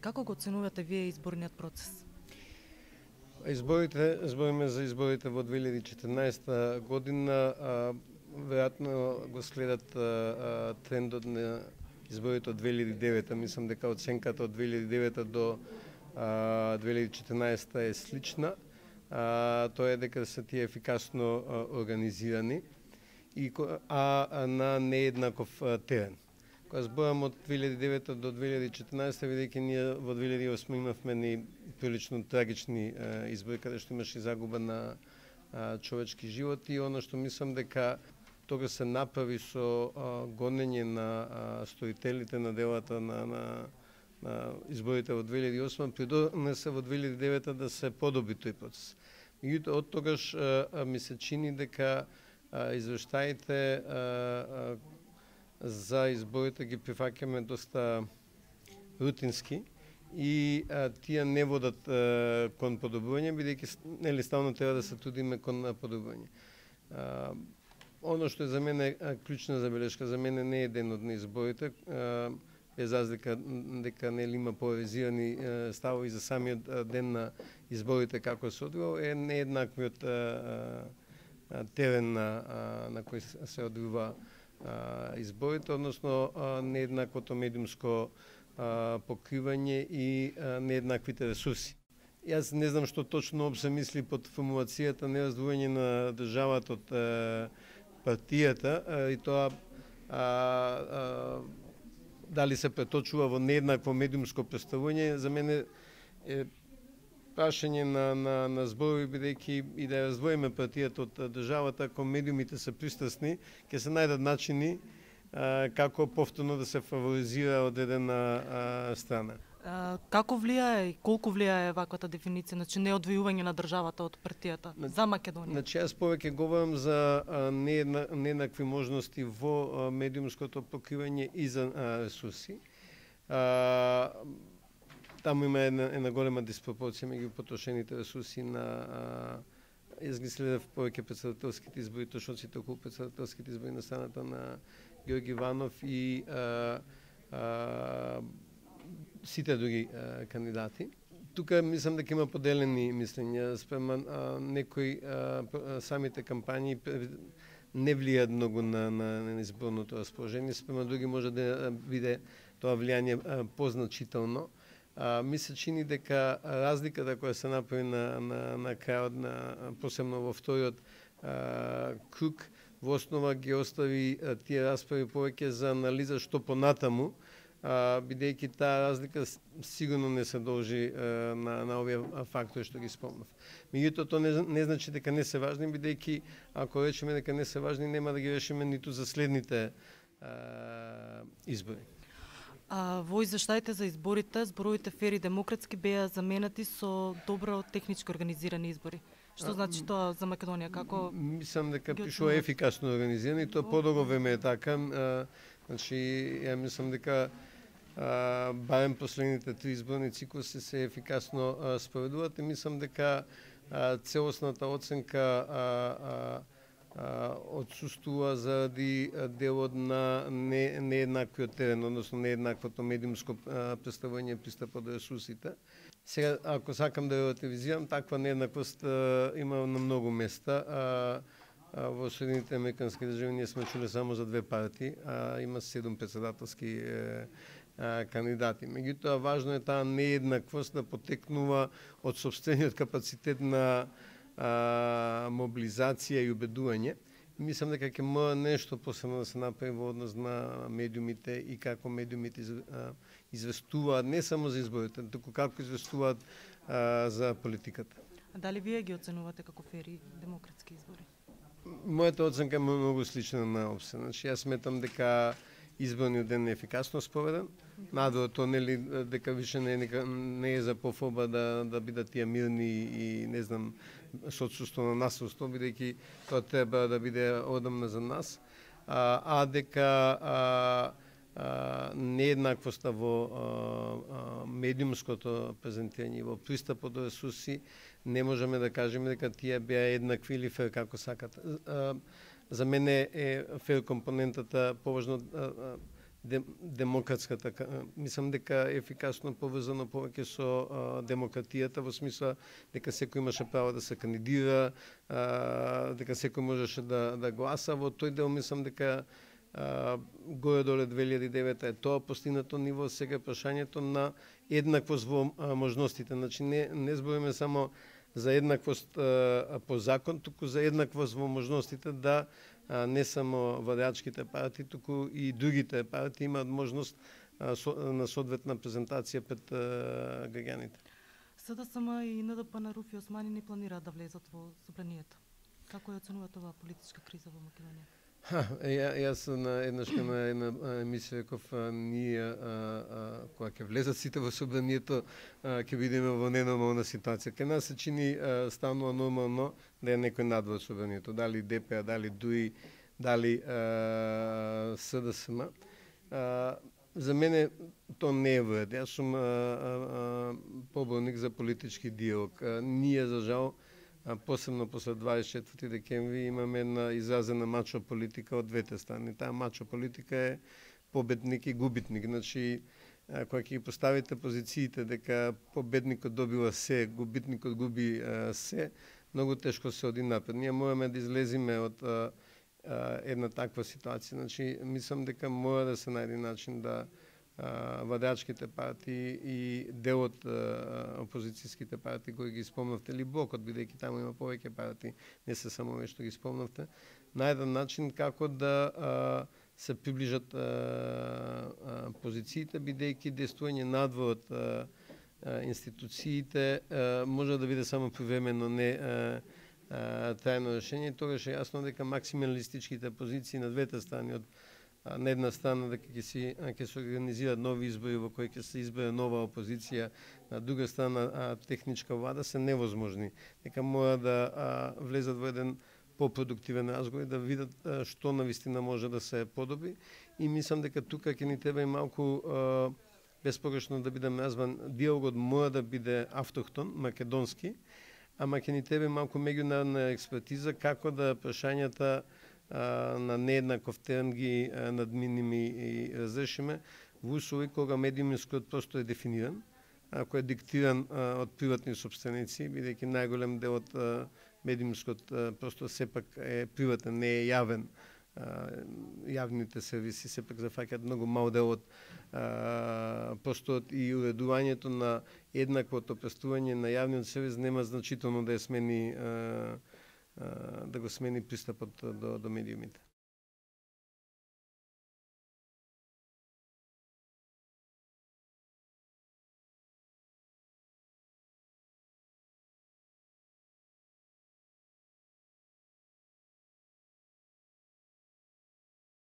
Како го оценувате вие изборниот процес? Збориме за изборите во 2014 година, веројатно го следат трендот на изборите од 2009. Мислам дека оценката од 2009 до 2014 е слична. Тоа е дека се тие ефикасно организирани а на нееднаков терен. Кога зборам од 2009 до 2014, бидејќи ние во 2008 имавме ни прилично трагични избори, каде што имаше загуба на човечки животи, и оно што мислам дека тога се направи со гонење на стоителите на делата на изборите во 2008, придонесе во 2009 да се подобри тој процес. Меѓутоа, од тогаш ми се чини дека извештаите за изборите ги прифаќаме доста рутински и тие не водат кон подобрување, бидејќи стално треба да се трудиме кон подобрување. Оно што е за мене клучна забелешка, за мене не е денот на изборите, без разлика дека има поларизирани ставови за самиот ден на изборите како се одвива, е нееднаквиот терен на кој се одвива изборите, односно нееднаквото медиумско покривање и нееднаквите ресурси. Јас не знам што точно се мисли под формулацијата нераздвојање на државата од партијата, и тоа дали се преточува во нееднакво медиумско представување, за мене е прашање на зборови, бидејќи и да раздвоиме партијата од државата, ако медиумите се пристрасни, ќе се најдат начини како повторно да се фаворизира одредена страна. Како влијае и колку влијае ваквата дефиниција, значи неодвојување на државата од партијата за Македонија? Значи јас повеќе говорам за нееднакви можности во медиумското покривање и за ресурси. Таму има една голема диспропорција меѓу потрошените ресурси на јас ги следев повеќе председателските избори, точноците околу председателските избори на страната на Георги Иванов и сите други кандидати. Тука мислам дека има поделени мислења спрема некои самите кампањи не влијаат многу на изборното расположение, спрема други може да биде тоа влијање позначително. Ми се чини дека разликата која се направи на крајот, посебно во вториот круг, во основа ги остави тие расправи повеќе за анализа што понатаму, бидејќи таа разлика сигурно не се должи на овие фактори што ги спомнав. Меѓутоа, тоа не значи дека не се важни, бидејќи ако речеме дека не се важни, нема да ги решиме ниту за следните избори. Во извештаите за изборите, зборовите фер и демократски беа заменати со добро технички организирани избори. Што значи тоа за Македонија? Како мислам дека пишува ефикасно организирани, тоа подолго време е така. Значи, ја мислам дека барем последните 3 изборни циклуси се ефикасно спроведуваат и мислам дека целосната оценка отсуствува заради делот на нееднаквиот терен, односно нееднаквото медиумско представување пристапот до ресурсите. Сега, ако сакам да релативизирам, таква нееднаквост има на многу места. Во Соединените американски држави ние сме чули само за 2 партии, има 7 председателски кандидати. Меѓутоа, важно е таа нееднаквост да потекнува од сопствениот капацитет на мобилизација и убедување. Мислам дека ќе мора нешто посебно да се направи во однос на медиумите и како медиумите известуваат не само за изборите, туку како известуваат за политиката. А дали вие ги оценувате како фери демократски избори? Мојата оценка е многу слична на ОПСЕ. Значи, јас сметам дека изборниот ден е ефикасно спроведен. Надвор тоа нели дека више не е за пофоба да бидат тие мирни и не знам со отсуство на насилство, бидејќи тоа треба да биде одамна за нас, дека нееднаквоста во медиумското презентирање, во пристапот до ресурси, не можеме да кажеме дека тие беа еднакви или фер како сакат. За мене е фер компонентата поважно демократската, мислам дека ефикасно поврзано повеќе со демократијата, во смисла дека секој имаше право да се кандидира, дека секој можеше да гласа. Во тој дел мислам дека горе-доле 2009 е тоа постигнато ниво. Сега прашањето на еднаквост во можностите. Значи не збориме само за еднаквост по закон, туку за еднаквост во можностите, да не само владеачките партии, туку и другите партии имаат можност на соодветна презентација пред граѓаните. СДСМ и НДП на Руфи Османи не планираат да влезат во собранието. Како ја оценувате оваа политичка криза во Македонија? Јас на една емисија реков, ние кога ќе влезат сите во собранието, ќе бидеме во ненормална ситуација. Кај нас се чини станува нормално да е некој надвор собранието, дали ДП, дали ДУИ, дали СДСМ. За мене тоа не е вред. Јас сум поборник за политички диалог. Ние, за жал, посебно после 24 декември имаме една изразена мачо политика од двете страни. Таа мачо политика е победник и губитник. Значи, кога ќе ги поставите позициите дека победникот добива се, губитникот губи се, многу тешко се оди напред. Ние мораме да излезиме од една таква ситуација. Значи, мислам дека мора да се најде начин да владеачките партии и дел од опозицијските партии кои ги спомнавте, или блокот, бидејќи таму има повеќе партии, не се само овие што ги спомнавте, најден начин како да се приближат позициите, бидејќи действување надвор од институциите може да биде само привремено, не трајно решение. Тогаш е јасно дека максималистичките позиции на двете страни, од на една страна дека ќе се организираат нови избори во кои ќе се избере нова опозиција, на друга страна техничка влада, се невозможни. Дека мора да влезат во еден попродуктивен разговор и да видат што навистина може да се подобри. И мислам дека тука ќе ни треба и малку безпогрешно да биде назван, диалогот мора да биде автохтон, македонски, ама ќе ни треба малку меѓународна експертиза како да прашањата на нееднаков терен ги надминиме и разрешиме во услови кога медиумскиот простор е дефиниран, кој е диктиран од приватни собственици, бидејќи најголем дел од медиумскиот простор сепак е приватен, не е јавен. Јавните сервиси сепак зафаќаат многу мал дел од просторот и уредувањето на еднаквото престување на јавниот сервис нема значително да ја смени да го смени пристапот до медиумите.